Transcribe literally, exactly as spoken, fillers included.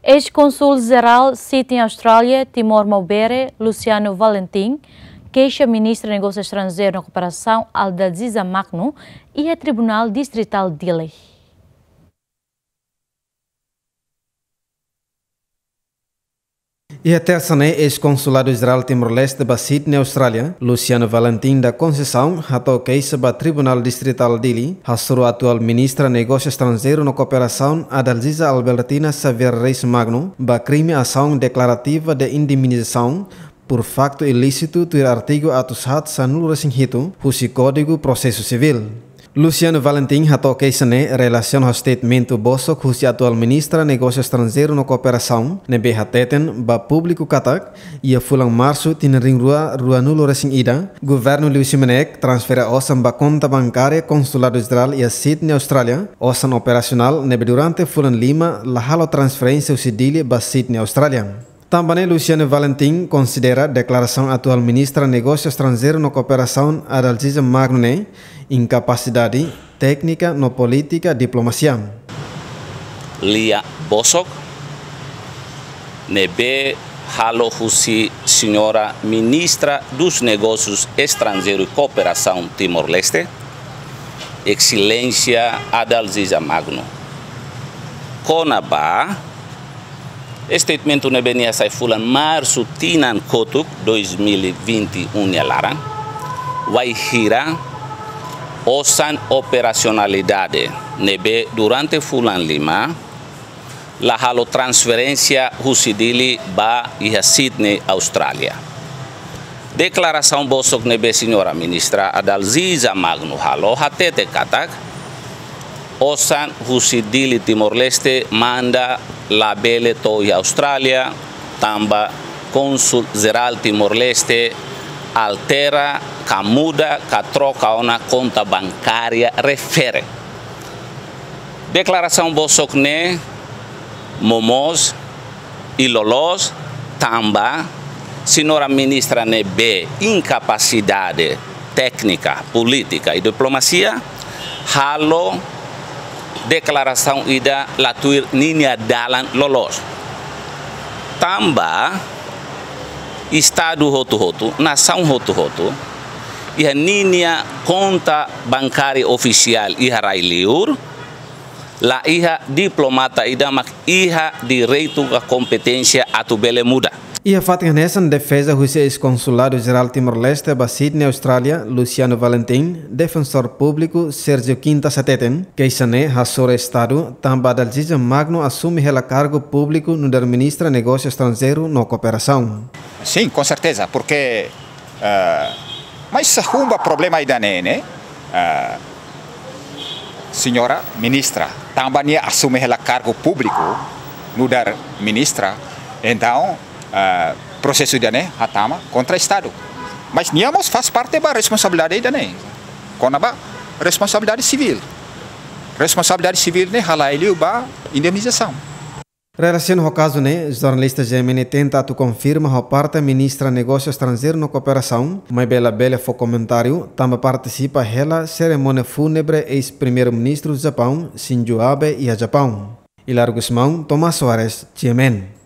Eis-Kónsul Jerál Sydney Austrália, Timor Maubere, Luciano Valentim, keixa Ministra Negósiu Estranjeiru no Kooperasaun Adalziza Magno iha Tribunál Distritál Dili. Iha tersa ne'e, eis-Konsuladu Jerál Timor-Leste ba Sydney, Austrália, Luciano Valentim da Conceição, hato'o keixa ba Tribunál Distritál Dili, hasoru atuál Ministra Negósiu Estranjeiru no Kooperasaun Adalziza Albertina Xavier Reis Magno ba krime asaun deklarativa de indemnizasaun por faktu ilísitu tuir artigu atus haat sanulu-resin-hitu husi Kódigu Prosesu Sivíl. Luciano Valentim hato'o keixa ne'e relasiona ho statement bosok husi atuál Ministra Negósiu Estranjeiru no Kooperasaun, ne'ebé hateten ba públiku katak, iha fulan Marsu tinan rihun rua ruanulu-resin-ida, governu liu simu ne'e transfere osan ba konta bankária Konsuladu Jerál iha Sydney, Austrália, osan operasionál ne'ebé durante fulan lima la halo transferénsia husi Dili ba Sydney, Austrália. Tanba ne'e Luciano Valentim konsidera deklarasaun atuál Ministra Negósiu Estranjeiru no Kooperasaun Adalziza Magno ne'e inkapasidade téknika no polítika diplomasia. Lia bosok ne'ebé halo husi Señora Ministra dos Negósius Estranjeiru i Kooperasaun Timor-Leste, Exelénsia Adalziza Magno, kona-ba statement ne'ebé nia sai fulan Marsu tinan kotuk dois mil e vinte e um nia laran, wainhira osan operasionalidade ne'ebé durante fulan lima la halo transferénsia husi Dili ba iha Sydney, Austrália. Deklarasaun bosok ne'ebé Señora Ministra Adalziza Magno halo hatete katak, osan husi Dili, Timor-Leste manda labele to'o iha Austrália, tanba Kónsul Jerál Timor-Leste altera, ka muda, ka troka ona konta bankária refere. Deklarasaun bosok ne'e momoos i loloos tanba Señora Ministra ne'ebé inkapasidade téknika, polítika i diplomasia halo deklarasaun ida la tuir ninia dalan loloos. Tanba Estadu hotu-hotu, nasaun hotu-hotu, iha ninia konta bankária ofisiál iha rai-li'ur, la iha diplomata ida mak iha direitu ka kompeténsia atu bele muda. Iha fatin hanesan, defeza husi eis-Konsuladu Jerál Timor-Leste ba Sydney, Austrália, Luciano Valentim, Defensór Públiku Sérgio Quintas hateten, keixa ne'e hasoru Estadu tanba Adalziza Magno asume hela kargu públiku nu'udar Ministra Negósiu Estranjeiru no Kooperasaun. Sim, com certeza, porque, eh, mas se arruma problema ida-ne'e, ne'e, eh, Señora Ministra, tanba nia asume hela kargu públiku nu'udar Ministra, entaun, eh, prosesu ida-ne'e hatama kontra Estadu. Mas nia mós faz parte ba responsabilidade ida-ne'e, kona-ba responsabilidade sivíl. Responsabilidade sivíl ne'e halai liu ba indemnizasaun. Relasiona ho kazu ne'e, jornalista G M N tenta atu konfirma ho parte Ministra Negósiu Estranjeiru no Kooperasaun, maibé labele fó komentáriu, tanba partisipa hela serimónia fúnebre eis-Primeiru-Ministru Japaun, Shinzo Abe, iha Japaun. Hilario Gusmão, Tomás Soares, G M N.